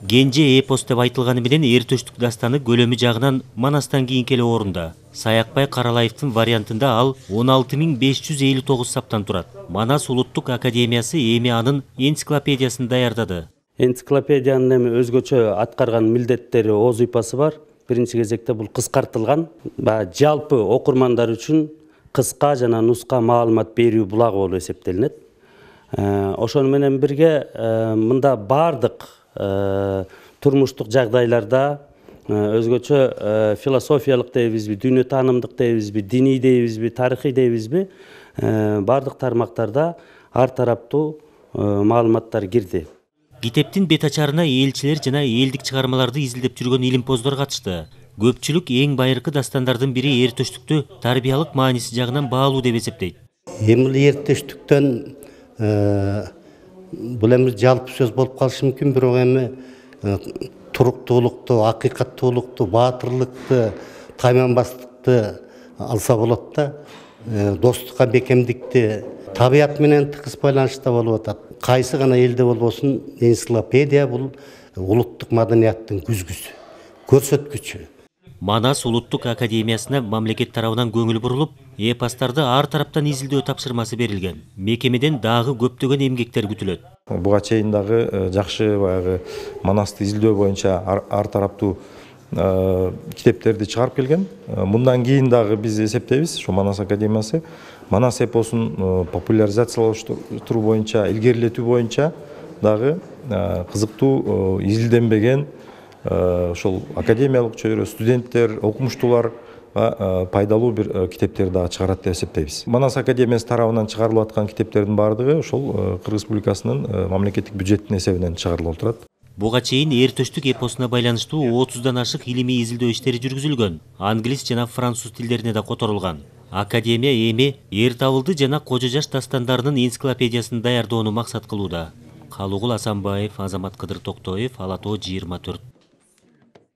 Кенже эпос деп айтылганы менен Эр-Төштүк дастаны көлөмү жагынан Манастан кийинки эле орунда. Саякбай Каралаевдин вариантында ал 16559 саптан турат. Манас улуттук академиясы эми анын энциклопедиясын даярдады. Энциклопедиянын эми өзгөчө аткарган милдеттери ооз ыйпасы бар. Биринчи кезекте бул кыскартылган, жалпы окурмандар үчүн кыска жана нуска маалымат берүү булагы болуп эсептелинет. Ошону менен бирге мында бардык турмуштук жагдайларда өзгөчө философиялык дейбизби, дүйнө таанымдык дейбизби, диний дейбизби, тарыхый дейбизби, бардык тармактарда ар тараптуу маалыматтар кирди. Китептин бет ачарына элчилер жана элдик чыгармаларды изилдеп жүргөн илимпоздор катышты. Көпчүлүк эң байыркы дастандардын бири Эр-Төштүктү тарбиялык мааниси жагынан баалуу деп эсептейт. Эми Эр-Төштүктөн бул эми жалпы сөз болуп калышы мүмкүн, бирок эми туруктуулукту, акыйкаттуулукту, баатырлыкты, тайманбастыкты алса болот да, достукка бекемдикти, табият менен тыгыз байланышта болуп атат. Кайсы гана элде болбосун, энциклопедия бул улуттук маданияттын күзгүсү, көрсөткүчү. Манас улуттук академиясына мамлекет тарабынан көңүл бурулуп, эпостарды ар тараптан изилдөө тапшырмасы берилген. Мекемеден дагы көптөгөн эмгектер күтүлөт. Буга чейин дагы жакшы баягы Манасты изилдөө боюнча ар тараптуу китептерди чыгарып келген. Мындан кийин дагы биз эсептейбиз, ошо Манас академиясы Манас эпосун популяризациялаштыруу боюнча, илгерилетүү боюнча дагы кызыктуу изилденбеген ошол академиялык чөйрө, студенттер, окумуштуулар пайдалуу бир китептер дагы чыгарат деп эсептейбиз. Манас академиясы тарабынан чыгарылып аткан китептердин баардыгы ошол Кыргыз Республикасынын мамлекеттик бюджетинин эсебинен чыгарылып отурат. Буга чейин Эр-Төштүк эпосуна байланыштуу 30дан ашык илимий изилдөө иштери жүргүзүлгөн. Англис жана француз тилдерине да которулган. Академия эми эр табылды жана кожо жаш дастандарынын энциклопедиясын даярдоону максат кылууда. Калуугул Асанбаев, Азамат Кыдыр Токтоев, Ала Тоо 24.